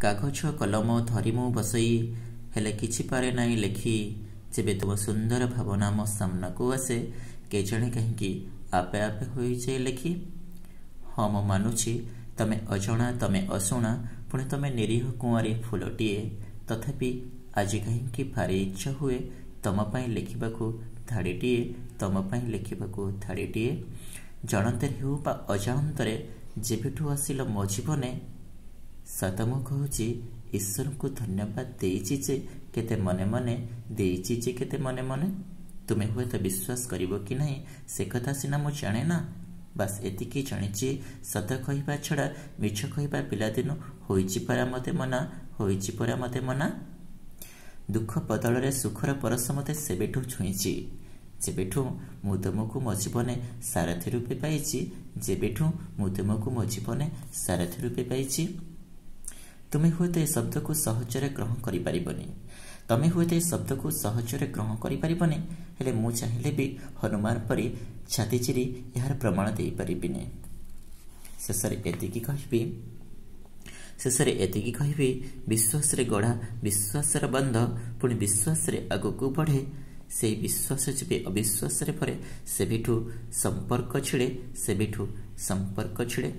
କାଗଜ କଲମ ଧରି ମୁଁ ବସଇ, ହେଲେ କିଛି ପାରେ ନାହିଁ ଲେଖି। ଯେବେ ତୁମ ସୁନ୍ଦର ଭାବନା ମୋ ସାମ୍ନାକୁ ଆସେ, କେଜାଣି କାହିଁକି ଆପେ ଆପେ ହୋଇଯାଏ ଲେଖି। ହଁ, ମୁଁ ମାନୁଛି ତମେ ଅଜଣା, ତମେ ଅଶୁଣା, ପୁଣି ତମେ ନିରୀହ କୁଆଁରୀ ଫୁଲଟିଏ। ତଥାପି ଆଜି କାହିଁକି ଭାରି ଇଚ୍ଛା ହୁଏ ତମ ପାଇଁ ଲେଖିବାକୁ ଧାଡ଼ିଟିଏ, ତମ ପାଇଁ ଲେଖିବାକୁ ଧାଡ଼ିଟିଏ। ଜାଣନ୍ତରେ ହେଉ ବା ଅଜାଣନ୍ତରେ ଯେବେଠୁ ଆସିଲ ମୋ ଜୀବନେ, ସତ ମୁଁ କହୁଛି, ଈଶ୍ୱରଙ୍କୁ ଧନ୍ୟବାଦ ଦେଇଛି ଯେ କେତେ ମନେ ମନେ, ଦେଇଛି ଯେ କେତେ ମନେ ମନେ। ତୁମେ ହୁଏତ ବିଶ୍ୱାସ କରିବ କି ନାହିଁ ସେ କଥା ସିନା ମୁଁ ଜାଣେ ନା, ବାସ୍ ଏତିକି ଜାଣିଛି, ସତ କହିବା ଛଡ଼ା ମିଛ କହିବା ପିଲାଦିନୁ ହୋଇଛି ପରା ମୋତେ ମନା, ହୋଇଛି ପରା ମୋତେ ମନା। ଦୁଃଖ ବଦଳରେ ସୁଖର ପରଶ ମୋତେ ସେବେଠୁ ଛୁଇଁଛି, ଯେବେଠୁ ମୁଁ ତୁମକୁ ମୋ ଜୀବନେ ସାରଥୀ ରୂପେ ପାଇଛି, ଯେବେଠୁ ମୁଁ ତୁମକୁ ମୋ ଜୀବନେ ସାରଥୀ ରୂପେ ପାଇଛି। ତୁମେ ହୁଏତ ଏ ଶବ୍ଦକୁ ସହଜରେ ଗ୍ରହଣ କରିପାରିବନି, ତମେ ହୁଏତ ଏ ଶବ୍ଦକୁ ସହଜରେ ଗ୍ରହଣ କରିପାରିବନି, ହେଲେ ମୁଁ ଚାହିଁଲେ ବି ହନୁମାନ ପରି ଛାତି ଚିରି ଏହାର ପ୍ରମାଣ ଦେଇପାରିବିନି। ଶେଷରେ ଏତିକି କହିବି, ଶେଷରେ ଏତିକି କହିବି, ବିଶ୍ୱାସରେ ଗଢ଼ା ବିଶ୍ୱାସର ବନ୍ଧ ପୁଣି ବିଶ୍ୱାସରେ ଆଗକୁ ବଢ଼େ। ସେଇ ବିଶ୍ୱାସ ଯେବେ ଅବିଶ୍ୱାସରେ ଭରେ, ସେବେଠୁ ସମ୍ପର୍କ ଛିଡ଼େ, ସେବେଠୁ ସମ୍ପର୍କ ଛିଡ଼େ।